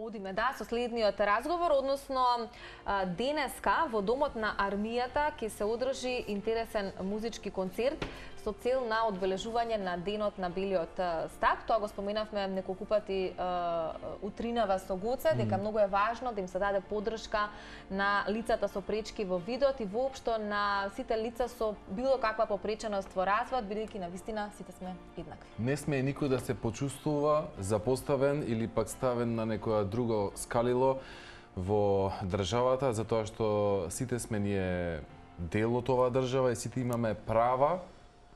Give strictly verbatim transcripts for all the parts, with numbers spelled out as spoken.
Одиме, да, со следниот разговор, односно денеска во Домот на армијата ќе се одржи интересен музички концерт со цел на одбележување на Денот на белиот стап. Тоа го споменавме неколку пати утринава со Гоце, дека многу е важно да им се даде поддршка на лицата со пречки во видот и воопшто на сите лица со било каква попреченост во развојот, бидејќи навистина сите сме еднакви. Не сме никој да се почувствува запоставен или пак ставен на некоја друго скалило во државата, затоа што сите сме ние дел од оваа држава и сите имаме права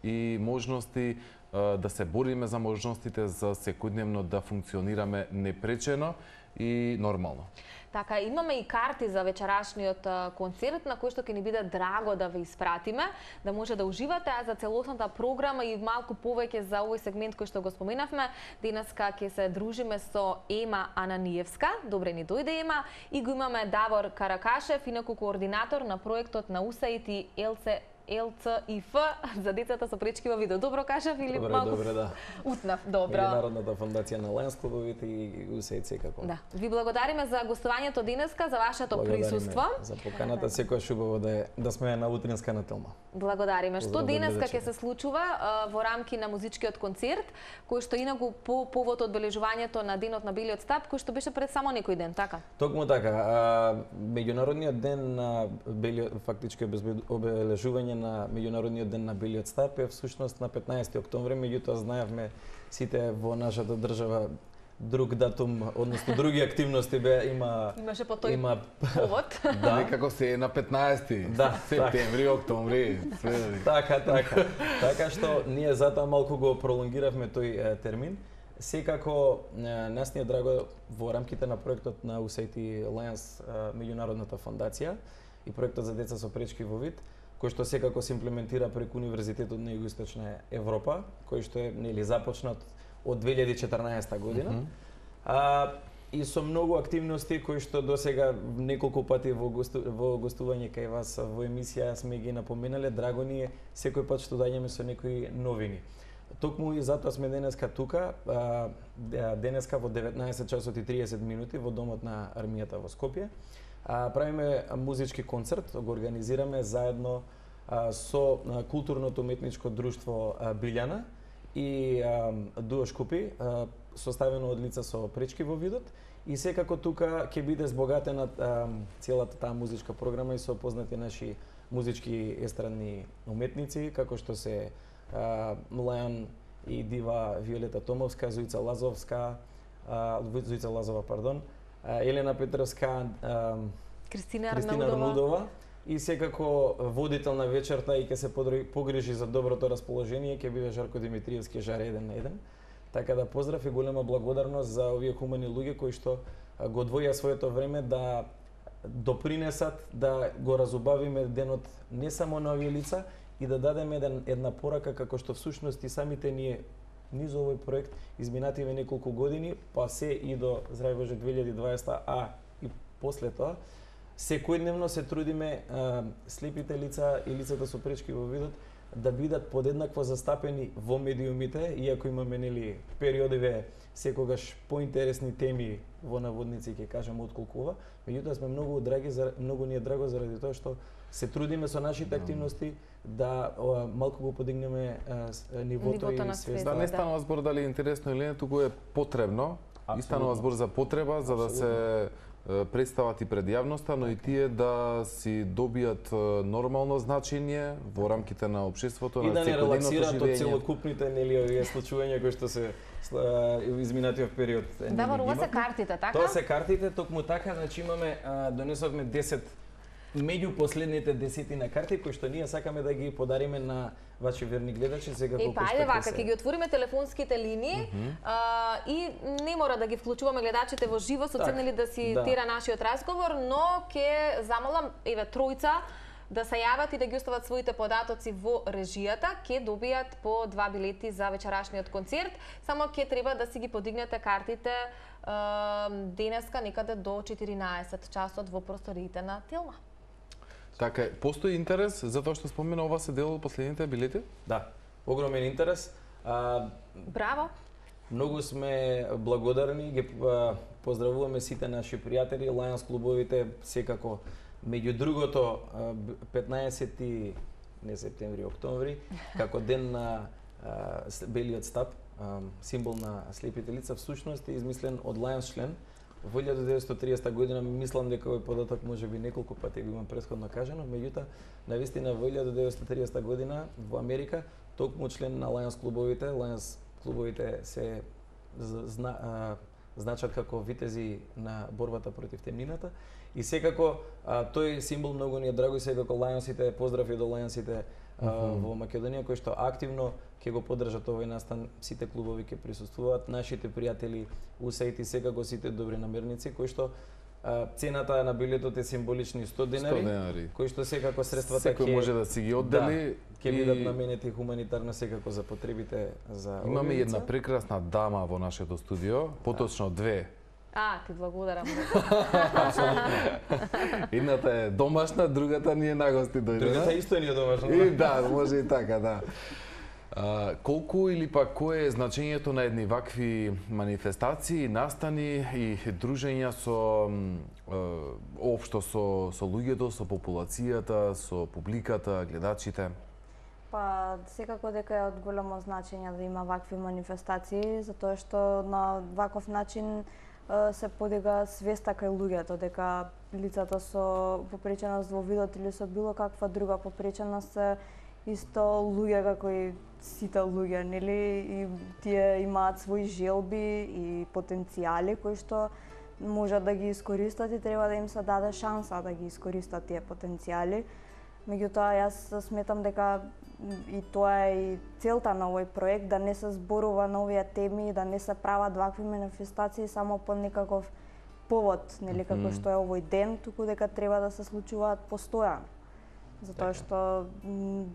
и можности да се бориме за можностите за секојдневно да функционираме непречено и нормално. Така, имаме и карти за вечерашниот концерт, на кој што ќе ни биде драго да ве испратиме, да може да уживате, а за целосната програма и малку повеќе за овој сегмент кој што го споменавме, денеска ќе се дружиме со Ема Ананиевска. Добре ни дојде, Ема, и го имаме Давор Каракашев, инаку координатор на проектот на УСАИД и ел це ел це и еф за децата со пречки во видот. Добро кажав или добре, малку? Добре, да. Утнав, добро. Меѓународната фондација на Лајонс клубовите и УСАИД секако. Да. Ви благодариме за гостувањето денеска, за вашето присуство. За поканата, секојаш убаво да е, да сме на утринска на Телма. Благодариме. Што денеска ќе се случува а, во рамки на музичкиот концерт, кој што инаку по повод одбележувањето на Денот на белиот стап, кој што беше пред само некој ден, така? Токму така. А, меѓународниот ден на белиот, фактички обележување на меѓународниот ден на белиот стап е всушност на петнаесети октомври, меѓутоа знаевме сите во нашата држава друг датум, односно други активности бе има имаше по тој има повод. Да, некако се е на петнаесети да, септември, така. Октомври, све. Така, така. Така што ние затоа малку го пролонгиравме тој е, термин. Секако нас ни е драго во рамките на проектот на УСАИД и Лајонс, меѓународната фондација и проектот за деца со пречки во вид, кој што секако се имплементира преку Универзитетот на Југоисточна Европа, кој што е нели започнат од две илјади и четрнаесета година. Mm -hmm. А, и со многу активности кои што досега неколку пати во, госту, во гостување кај вас во емисија сме ги напоменале, драго ни е секој пат што доаѓаме со некои новини. Токму и затоа сме денеска тука, а, денеска во деветнаесет часот и триесет минути во Домот на армијата во Скопје. А, правиме музички концерт, го организираме заедно а, со а, културното уметничко друштво а, Билјана и а, Дуо Шкупи, а, составено од лица со пречки во видот, и секако тука ќе биде збогатена а, целата таа музичка програма и со познати наши музички естрадни уметници, како што се а, Млајан и дива Виолета Томовска, Зуица Лазовска, а, Зуица Лазова, пардон, Елена Петровска, Кристина, Кристина Арнудова и секако водител на вечерта и ќе се погрижи за доброто расположение ќе биде Жарко Димитриевски, Жар еден на еден. Така да поздрав и голема благодарност за овие хумани луѓе кои што го одвоја своето време да допринесат да го разубавиме денот не само на овие лица и да дадеме еден, една порака како што всушност и самите ние низ овој проект изминативе неколку години, па се и до здрави Боже две илјади и дваесета, а и после тоа, секојдневно се трудиме а, слепите лица и лицата со пречки во видот да бидат подеднакво застапени во медиумите, иако имаме нели периодиве секогаш поинтересни теми во наводници, ќе кажеме отколку ова, меѓутоа сме многу драги, многу ни е драго заради тоа што се трудиме со нашите активности да о, малку го подигнеме а, нивото, нивото и свеста. Да, не станува збор дали е интересно или не, туку е потребно. И станува збор за потреба, за да се представат и пред јавноста, но и тие да си добијат нормално значење во рамките на општеството, на секојдневното живење. И да не релаксираат од целокупните нели овие случувања кои што се изминатиот период. Да, во се картите, така? Тоа се картите, токму така, значи имаме донесовме десет меѓу последните десетина карти кои што ние сакаме да ги подариме на ваши верни гледачи сега колку што. Е, па ајде вака, ќе ги отвориме телефонските линии mm -hmm. а, и не мора да ги вклучуваме гледачите во живо со цел да си да. тера нашиот разговор, но ќе замолам еве тројца да се јават и да ги остават своите податоци во режијата, ќе добијат по два билети за вечерашниот концерт. Само ќе треба да си ги подигнете картите а, денеска некаде до четиринаесет часот во просториите на Телма. Така, постои интерес за тоа што спомена ова се дел од последните билети? Да, огромен интерес. А, Браво! Многу сме благодарни, ги поздравуваме сите наши пријатели, Lions клубовите, секако. Меѓу другото, петнаесети не септември, октомври, како ден на белиот стап, символ на слепите лица, всушност е измислен од Lions член. Во илјада деветстотини и триесета година, мислам дека овој податок може би неколку пати го имам претходно кажано, меѓутоа, навистина во илјада деветстотини и триесета година во Америка, токму член на Lions клубовите, Lions клубовите се зна, а, значат како витези на борбата против темнината и секако а, тој символ многу ни е драго и секако Lionsите, поздрави до Lionsите а, mm-hmm. во Македонија кои што активно ќе го поддржат овој настан, сите клубови ќе присуствуваат, нашите пријатели, усајти секако сите добри намерници кои што а, цената на билетот е символични сто денари, сто денари. кои што секако средствата ќе може да си ги оддели, да, ќе бидат наменети хуманитарно секако за потребите за Имаме овие една лица. прекрасна дама во нашето студио, поточно две. А, ти благодарам. Едната е домашна, другата ни е на гости дојдена. Другата исто ни е домашна. И да, може и така, да. А, колку или пак кое е значењето на едни вакви манифестации, настани и дружења со е, општо со со луѓето, со популацијата, со публиката, гледачите? Па, секако дека е од големо значење да има вакви манифестации, затоа што на ваков начин е, се подига свеста кај луѓето дека лицата со попреченост во видот или со било каква друга попреченост се исто луѓе како и сите луѓе, нели? И тие имаат свои желби и потенцијали кои што можат да ги искористат и треба да им се даде шанса да ги искористат тие потенцијали. Меѓутоа, јас сметам дека и тоа е и целта на овој проект, да не се зборува на овие теми, да не се прават вакви манифестации само по некаков повод, нели, како што е овој ден, туку дека треба да се случуваат постојано. Затоа што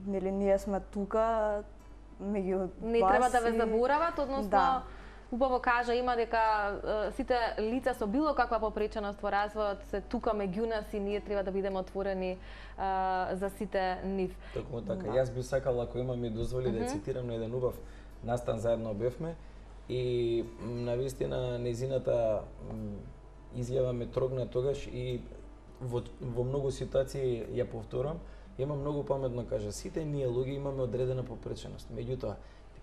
нели ние сме тука меѓу Не вас треба да ве и- заборават, односно Да. убаво кажа има дека е, сите лица со било каква попреченост во развојот се тука меѓу нас и ние треба да бидеме отворени е, за сите нив. Токму така. Јас би сакал, ако има ми дозволи, mm -hmm. да цитирам на еден убав настан заедно бевме и навистина незината изјава ме трогна тогаш и во, во многу ситуации ја повторам, има многу паметно кажа, сите ние луѓе имаме одредена попреченост. Меѓутоа,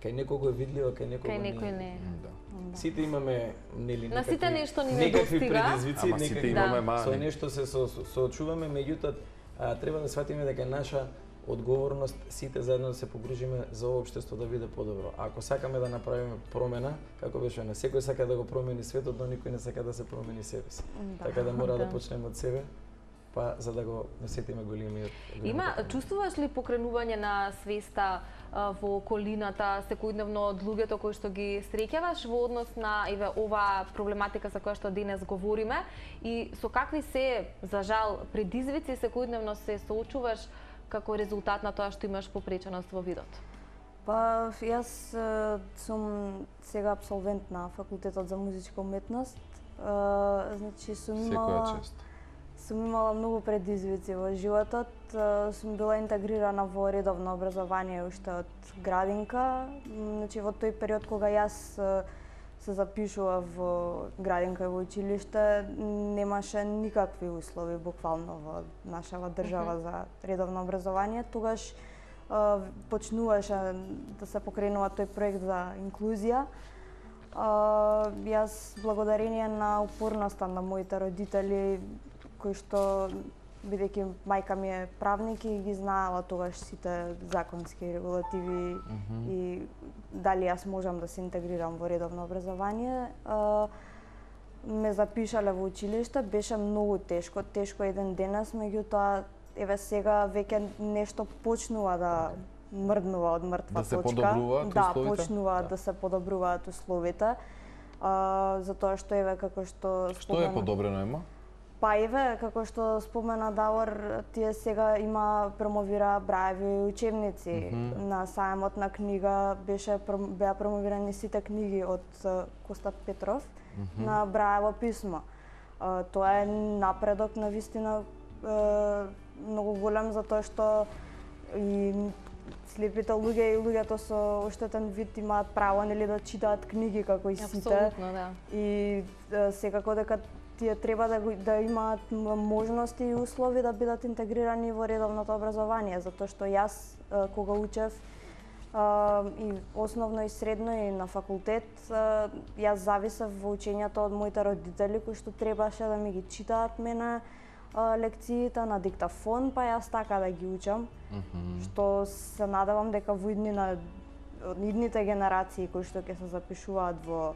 кај некого е видливо, кај некого Кај не. некој не. Да. Сите имаме нели На некакви сите нешто ни некакви недостига. предизвици, Ама сите некакви имаме Да. мани. со нешто се со, со, соочуваме, меѓутоа а, треба да сватиме дека е наша одговорност сите заедно да се погрижиме за ова општество да биде подобро. А ако сакаме да направиме промена, како беше на секој сака да го промени светот, но никој не сака да се промени себе си. Да. Така да мора да, Да. почнеме од себе, па за да го насетиме големиот. Има, големата чувствуваш ли покренување на свеста а, во околината секојдневно од луѓето кои што ги среќаваш во однос на еве ова проблематика за која што денес говориме и со какви се за жал предизвици секојдневно се соочуваш како резултат на тоа што имаш попреченост во видот? Па, јас е, сум сега абсолвент на факултетот за музичка уметност. Е, значи сум имала Секоја чест. сум имала многу предизвици во животот. Е, Сум била интегрирана во редовно образование уште од градинка. М, Значи во тој период кога јас е, се запишував во градинка и во училиште, немаше никакви услови буквално во нашава држава за редовно образование. Тогаш е, почнуваше да се покренува тој проект за инклузија. А, јас благодарение на упорноста на моите родители, кои што бидејќи мајка ми е правник и ги знаела тогаш сите законски регулативи mm -hmm. и дали јас можам да се интегрирам во редовно образование, а, ме запишале во училиште, беше многу тешко, тешко еден денес, меѓутоа еве сега веќе нешто почнува да мрднува од мртва Да се точка. подобруваат да, условите? почнуваат Да. да се подобруваат условите. А, затоа што еве како што Што е подобрено има? Па еве, како што спомена Давор, тие сега има промовира браеви учебници. Mm -hmm. На сајмот на книга беше беа промовирани сите книги од е, Коста Петров mm -hmm. на браево писмо. Е, Тоа е напредок навистина е, многу голем затоа што и слепите луѓе и луѓето со оштетен вид имаат право нели да читаат книги како и сите. Апсолутно, да. И е, секако дека тие треба да го, да имаат можности и услови да бидат интегрирани во редовното образование, затоа што јас е, кога учев и основно и средно и на факултет, јас зависев во учењето од моите родители кои што требаше да ми ги читаат мене лекциите на диктафон, па јас така да ги учам, mm-hmm. што се надевам дека во иднина, идните генерации кои што ќе се запишуваат во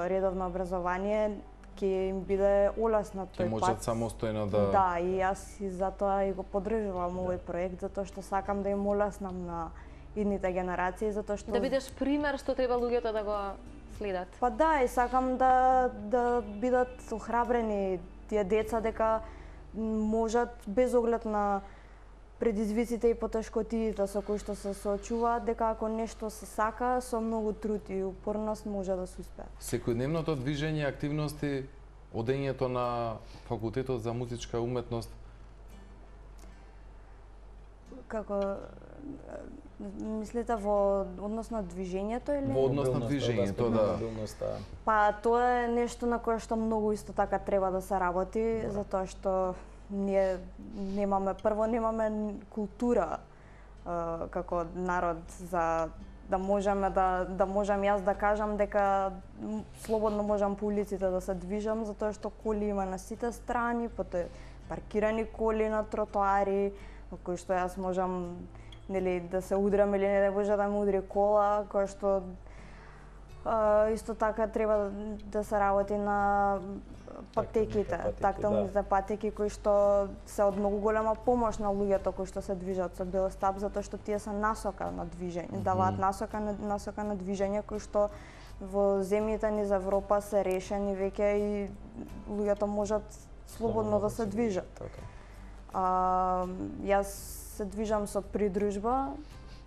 редовно образование, ќе им биде олеснат тој пат. Ќе можат самостојно да... Да, и јас и затоа и го поддржувам овој проект, затоа што сакам да им олеснам на идните генерации, затоа што... Да бидеш пример што треба луѓето да го следат. Па да, и сакам да, да бидат охрабрени тие деца дека можат без оглед на предизвиците и потешкотиите со кои што се соочуваат, дека ако нешто се сака, со многу труд и упорност може да се успее. Секојдневното движење, активности, одењето на факултетот за музичка уметност? Како мислите во однос на движењето или? Во однос на движењето, да. Па тоа е нешто на кое што многу исто така треба да се работи, да. Затоа што ние немаме, прво немаме култура е, како народ за да можеме да да можам јас да кажам дека слободно можам по улиците да се движам, затоа што коли има на сите страни, потоа паркирани коли на тротоари, во кои што јас можам нели да се удрам или не да може да ме удри кола, која што а, исто така треба да, да се работи на патеките, тактилните да. патеки кои што се од многу голема помош на луѓето кои што се движат со велостап, затоа што тие се насока на движење, mm -hmm. даваат насока на насока на движење кои што во земјите низ Европа се решени веќе и луѓето можат слободно да се движат. Така. А, јас се движам со придружба,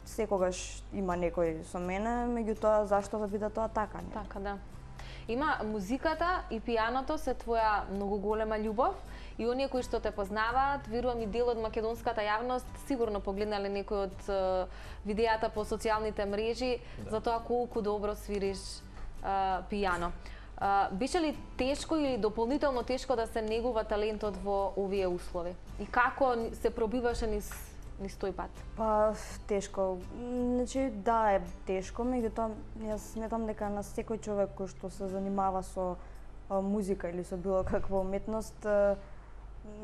секогаш има некој со мене, меѓутоа зашто да биде тоа така? Не? Така, да. Има музиката и пианото се твоја многу голема љубов и оние кои што те познаваат, верувам и дел од македонската јавност, сигурно погледнале некои од uh, видеата по социјалните мрежи да. За тоа колку добро свириш uh, пијано. Uh, беше ли тешко или дополнително тешко да се негува талентот во овие услови? И како се пробиваше низ, низ тој пат? Па, тешко. Значи, да, е тешко, меѓутоа јас сметам дека на секој човек кој што се занимава со а, музика или со било каква уметност а,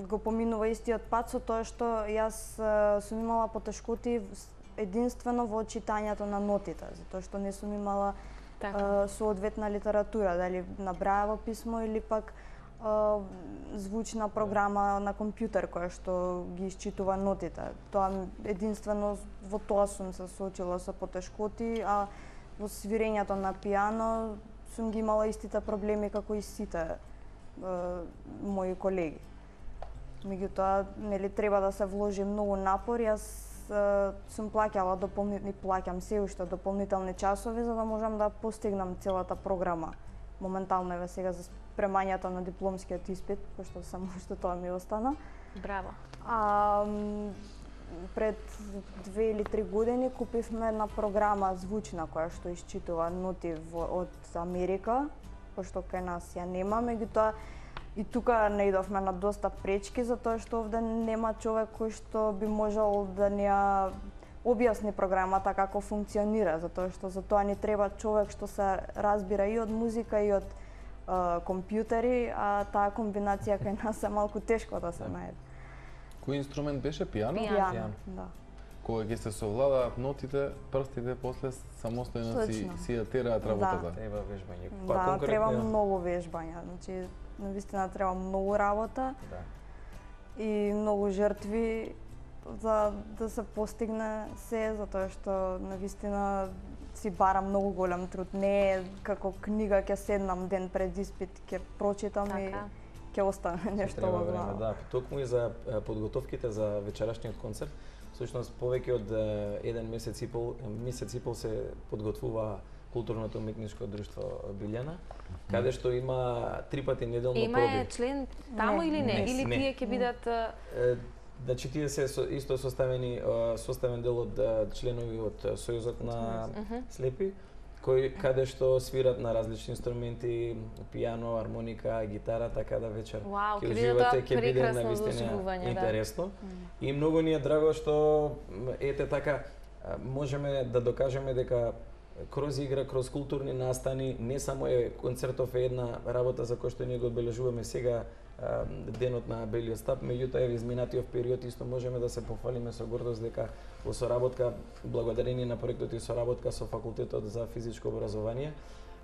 го поминува истиот пат со тоа што јас а, сум имала потешкоти единствено во читањето на нотите, затоа што не сум имала така. Соодветна литература, дали на брајево писмо или пак а, звучна програма на компјутер која што ги исчитува нотите. Тоа единствено во тоа сум се соочила со потешкоти, а во свирењето на пијано сум ги имала истите проблеми како и сите а, мои колеги. Меѓутоа, нели треба да се вложи многу напор. Јас сум плаќала дополнителни, плаќам се уште дополнителни часови за да можам да постигнам целата програма. Моментално еве сега за спремањето на дипломскиот испит, пошто само што тоа ми остана. Браво. А, пред две или три години купивме една програма звучна која што исчитува ноти од Америка, пошто кај нас ја нема, меѓутоа и тука наидовме на доста пречки, затоа што овде нема човек кој што би можел да ни ја објасни програмата како функционира, затоа што за тоа ни треба човек што се разбира и од музика и од е, компјутери, а таа комбинација кај нас е малку тешко да се најде. Кој инструмент беше? Пијано? Пијано, да. Кога ќе се совладаат нотите, прстите после самостојно си, си ја тераат работата. Да. Треба вежбање. Па, да, конкретно... треба многу вежбање. Значи, навистина треба многу работа да. И многу жртви за да се постигне се, затоа што навистина си бара многу голем труд. Не е како книга ќе седнам ден пред испит, ќе прочитам така. И ќе остане нешто во глава. Да, токму и за подготовките за вечерашниот концерт, всушност повеќе од еден месец и пол, месец и пол се подготвува Културното уметничко друштво Билјана, каде што има три пати неделно има проби. Има член таму не, или не? не или не. тие ќе бидат Значи тие се со, исто составени составен дел од членови од Сојузот на слепи, кои каде што свират на различни инструменти, пијано, армоника, гитара, така да вечер Вау, ќе уживате, ќе биде прекрасно навистина доживување, интересно. Да. И многу ни е драго што ете така можеме да докажеме дека кроз игра, кроз културни настани, не само е концертов е една работа за која што ние го одбележуваме сега денот на белиот стап, меѓутоа е изминатиот период исто можеме да се пофалиме со гордост дека во соработка, благодарение на проектот и соработка со факултетот за физичко образование,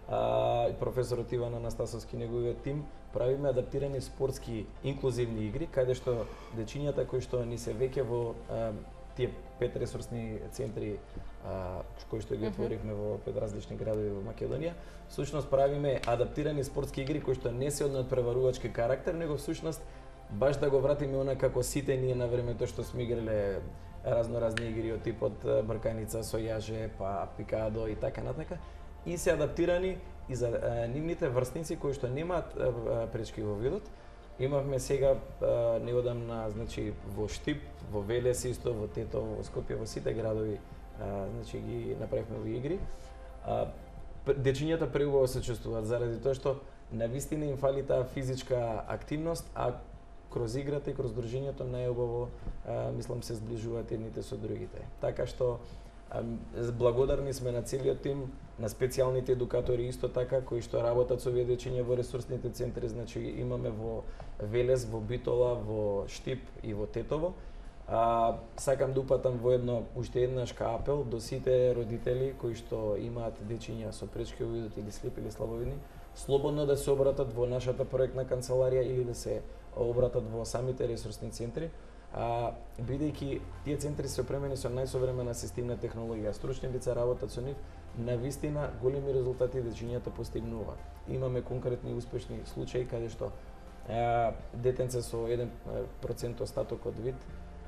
а, и професорот Иван Анастасовски неговиот тим, правиме адаптирани спортски инклузивни игри, каде што дечињата кои што ни се веќе во а, тие пет ресурсни центри а, кои што ги отворивме во пет различни градови во Македонија, всушност правиме адаптирани спортски игри кои што не се од надпреварувачки карактер, него всушност баш да го вратиме она како сите ние на времето што сме играле разноразни игри од типот брканица со јаже, па пикадо и така натака, и се адаптирани и за а, нивните врсници кои што немаат а, пречки во видот. Имавме сега а, неодамна, значи во Штип, во Велес исто, во Тетово, во Скопје, во сите градови, а, значи ги направивме во игри. А, дечињата преубаво се чувствуваат заради тоа што навистина им фали таа физичка активност, а кроз играта и кроз дружењето најубаво мислам се зближуваат едните со другите. Така што а, благодарни сме на целиот тим, на специјалните едукатори исто така кои што работат со овие дечиња во ресурсните центри, значи имаме во Велес, во Битола, во Штип и во Тетово. А, сакам да упатам воедно уште еднаш ка апел до сите родители кои што имаат дечиња со пречки во видот или слепи или слабовидни, слободно да се обратат во нашата проектна канцеларија или да се обратат во самите ресурсни центри, а, бидејќи тие центри се опремени со најсовремена асистивна технологија, стручни лица работат со нив, навистина големи резултати дечињата постигнуваат. Имаме конкретни успешни случаи каде што а, детенце со еден процент остаток од вид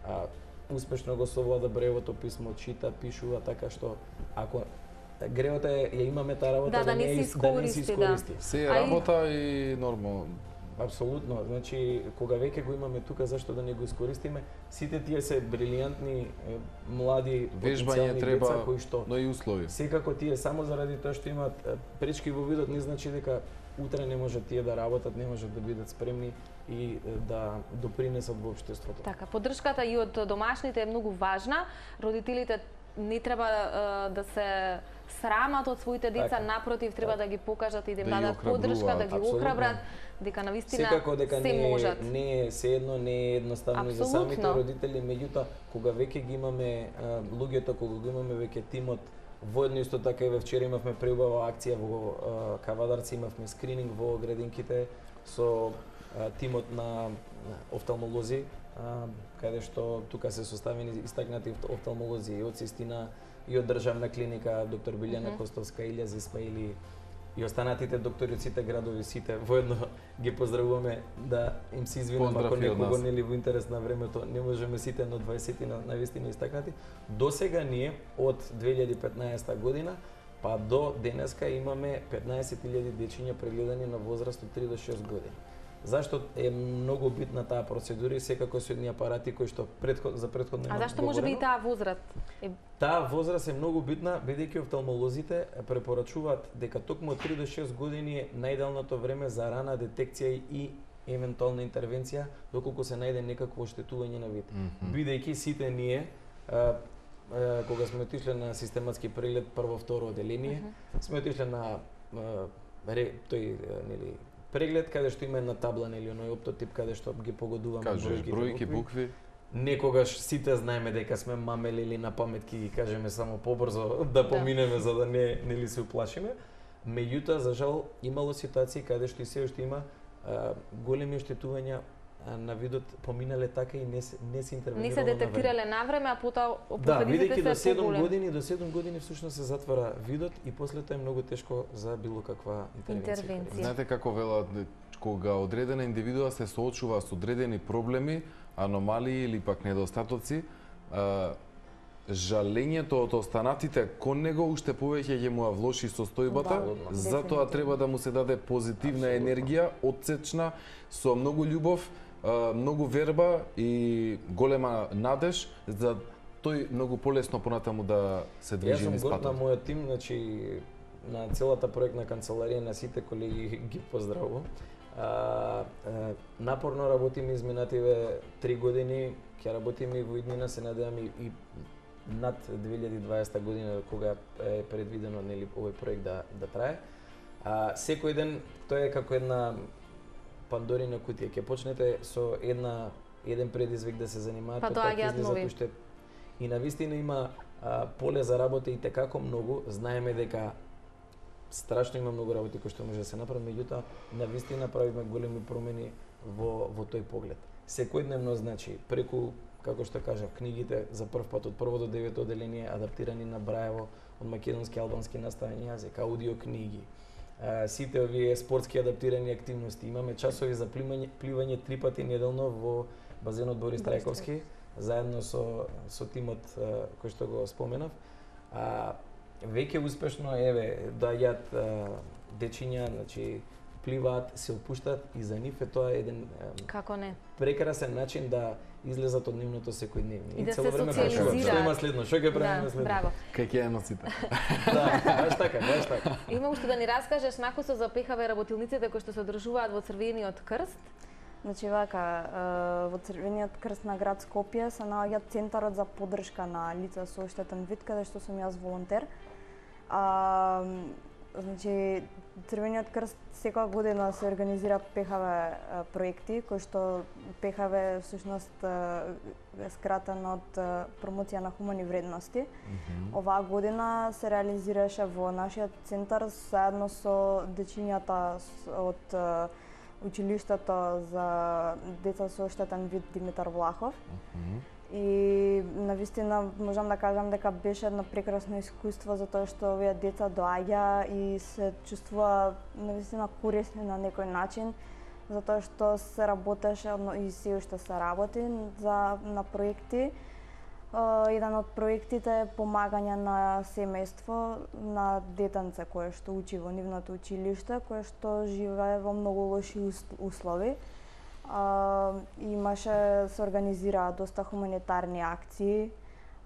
а, успешно го совлада брејовото писмо, чита, пишува, така што ако греota е ја имаме таа работа да, да, да не не се искористи, да. Се е работа и нормално. Апсолутно, значи кога веќе го имаме тука, зашто да не го искористиме? Сите тие се брилијантни млади вежбање треба, деца кои што но и услови. Секако тие само заради тоа што имаат пречки во видот не значи дека утре не може тие да работат, не можат да бидат спремни и да допринесат во општеството. Така, поддршката и од домашните е многу важна. Родителите не треба uh, да се срамат од своите деца, така, напротив, треба така да ги покажат и да им да дадат поддршка, да ги охрабрат, дека навистина секако дека се не, можат. Не е седно, не е едноставно и за самите родители, меѓутоа кога веќе ги имаме а, луѓето, кога го имаме веќе тимот, воедно исто така и во вчера имавме преубава акција во а, Кавадарци, имавме скрининг во градинките со а, тимот на офталмолози, а, каде што тука се составени истакнати офталмолози и од Систина и од државна клиника доктор Билјана mm -hmm. Костовска, Илјаз Исмаили и останатите доктори од сите градови, сите воедно ги поздравуваме, да им се извинам ако некого нели во интерес на времето не можеме сите на дваесет на навистина истакнати. До сега ние од две илјади и петнаесета година па до денеска имаме петнаесет илјади дечиња прегледани на возраст од три до шест години. Зашто е многу битна таа процедура и секако со едни апарати кои што предход, за предходно А зашто може би и таа возраст? Е... Таа возраст е многу битна, бидејќи офталмолозите препорачуваат дека токму од три до шест години е најдалното време за рана детекција и евентуална интервенција доколку се најде некакво оштетување на вид. Mm -hmm. Бидејќи сите ние а, а, кога сме отишле на систематски преглед прво второ оделение, mm -hmm. сме отишле на а, ре, тој нели преглед каде што има една табла нели оној оптотип каде што ги погодуваме бројки, бројки, букви. Некогаш сите знаеме дека сме мамели или на памет ќе ги кажеме само побрзо да поминеме за да не нели се уплашиме. Меѓутоа за жал имало ситуации каде што и се уште има а, големи оштетувања на видот поминале така и не се не се интервенирало. Не се детектирале навреме, а потоа последиците да, се поголеми. Да, бидејќи до седум години, до седум години всушност се затвара видот и после тоа е многу тешко за било каква интервенција. интервенција. Знаете како велат кога одредена индивидуа се соочува со одредени проблеми, аномалии или пак недостатоци, а, жалењето од останатите кон него уште повеќе ќе му влоши состојбата, да, затоа треба да му се даде позитивна енергија, отсечна, со многу љубов многу верба и голема надеж за тој многу полесно понатаму да се движи низ Јас сум горд на патот. мојот тим, значи на целата проектна канцеларија, на сите колеги ги поздравувам. А, а, напорно работиме изминативе три години, ќе работиме и во иднина, се надевам и, и над две илјади и дваесета година кога е предвидено нели овој проект да да трае. А, секој ден тоа е како една Пандорина кутија. Ќе почнете со една еден предизвик да се занимавате, Па доаѓаат нови. уште и навистина има а, поле за работа и текако многу. Знаеме дека страшно има многу работи кои што може да се направи, меѓутоа навистина правиме големи промени во во тој поглед. Секојдневно, значи, преку, како што кажав, книгите за прв пат од прво до девето оделение адаптирани на Браево од македонски и албански наставен јазик, аудио книги, а, сите овие спортски адаптирани активности. Имаме часови за пливање, пливање три пати неделно во базенот Борис Трајковски, заедно со со тимот а, кој што го споменав. А, веќе успешно еве доаѓаат дечиња, значи пливаат, се опуштаат и за нив е тоа еден а, Како не? прекрасен начин да излезат од нивното секојдневие. И да цело се време социализираат. прашуваат што има следно, што ќе правиме Да, следно. браво. Кај ќе ја носите? Да, баш така, баш така. Има уште да ни раскажеш накусо за ПХВ работилниците кои што се одржуваат во Црвениот крст. Значи вака, е, во Црвениот крст на град Скопје се наоѓа центарот за поддршка на лица со оштетен вид, каде што сум јас волонтер. А, значи, Црвениот крст секоја година се организира ПХВ проекти, кои што ПХВ всушност е скратен од промоција на хумани вредности. Mm -hmm. Оваа година се реализираше во нашиот центар заедно со дечињата од училиштето за деца со оштетен вид Димитар Влахов. Mm -hmm. И навистина можам да кажам дека беше едно прекрасно искуство затоа што овие деца доаѓа и се чувствува навистина корисни на некој начин, затоа што се работеше и се уште се работи за на проекти. Еден од проектите е помагање на семејство на детенце кое што учи во нивното училиште, кое што живее во многу лоши услови. Uh, имаше, се организираа доста хуманитарни акции.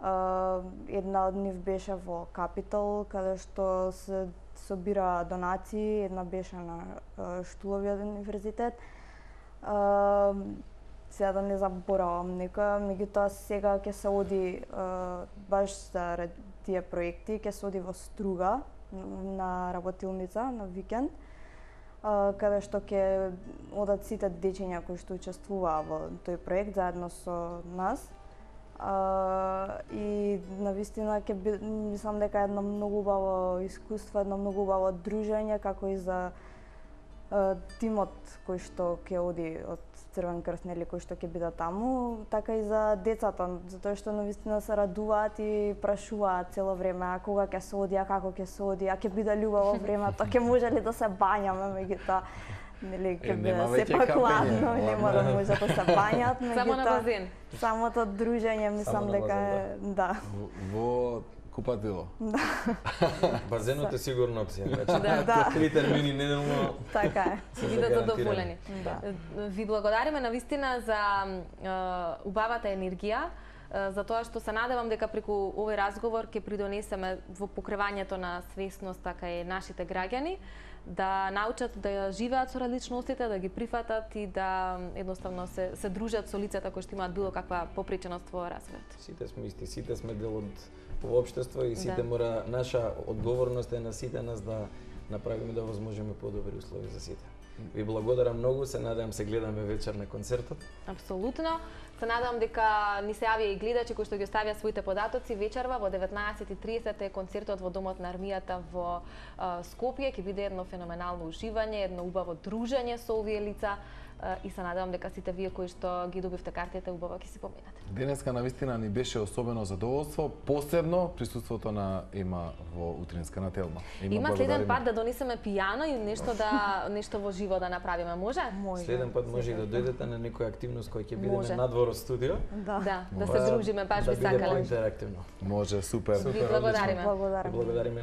Uh, една од нив беше во Капитал, каде што се собира донации, една беше на uh, Штуловиот универзитет. Uh, сега да не заборавам некоја, меѓутоа сега ќе се оди uh, баш за тие проекти, ќе се оди во Струга на работилница на викенд, каде што ќе одат сите дечиња кои што учествуваа во тој проект заедно со нас. А, и навистина ќе би, мислам дека едно многу убаво искуство, едно многу убаво дружење, како и за а, тимот кој што ќе оди од Црвен крст, нели, кој што ќе биде таму, така и за децата, затоа што навистина се радуваат и прашуваат цело време а кога ќе се оди, а како ќе се оди, а ќе биде љубаво времето, ќе може ли да се бањаме, меѓутоа нели ќе биде сепак ладно, нема да може да се бањат, меѓутоа само на базен. Самото дружење мислам дека е, да. Во купатило. Да. Базенот е сигурно опција. Значи, Да, да. три термини неделно. Така е. Се бидат задоволени. Да. Ви благодариме навистина за е, убавата енергија, е, за тоа што се надевам дека преку овој разговор ќе придонесеме во покривањето на свесност така и нашите граѓани да научат да живеат со различностите, да ги прифатат и да едноставно се се дружат со лицата кои што имаат било каква попреченост во развојот. Сите сме исти, сите сме дел од во општество и сите Да. мора, наша одговорност е на сите нас да направиме да возможиме подобри услови за сите. Ви благодарам многу, се надевам се гледаме вечер на концертот. Апсолутно. Се надевам дека ни се јавија и гледачи кои што ги оставија своите податоци вечерва во деветнаесет и тридесет е концертот во Домот на армијата во а, Скопје. Ќе биде едно феноменално уживање, едно убаво дружење со овие лица а, и се надевам дека сите вие кои што ги добивте картите убаво ќе си поминате. Денеска навистина ни беше особено задоволство, посебно присуството на Ема во утринска на Телма. Ема, Има следен пат да донесеме пијано и нешто да нешто во живо да направиме, може? Може. Следен пат може и да дојдете на некоја активност која ќе Може. биде надвор од студио. Да. Да, да Па, се дружиме, баш да би биде сакале. поинтерактивно. Може, супер. Ви благодариме. Благодарам. Благодариме.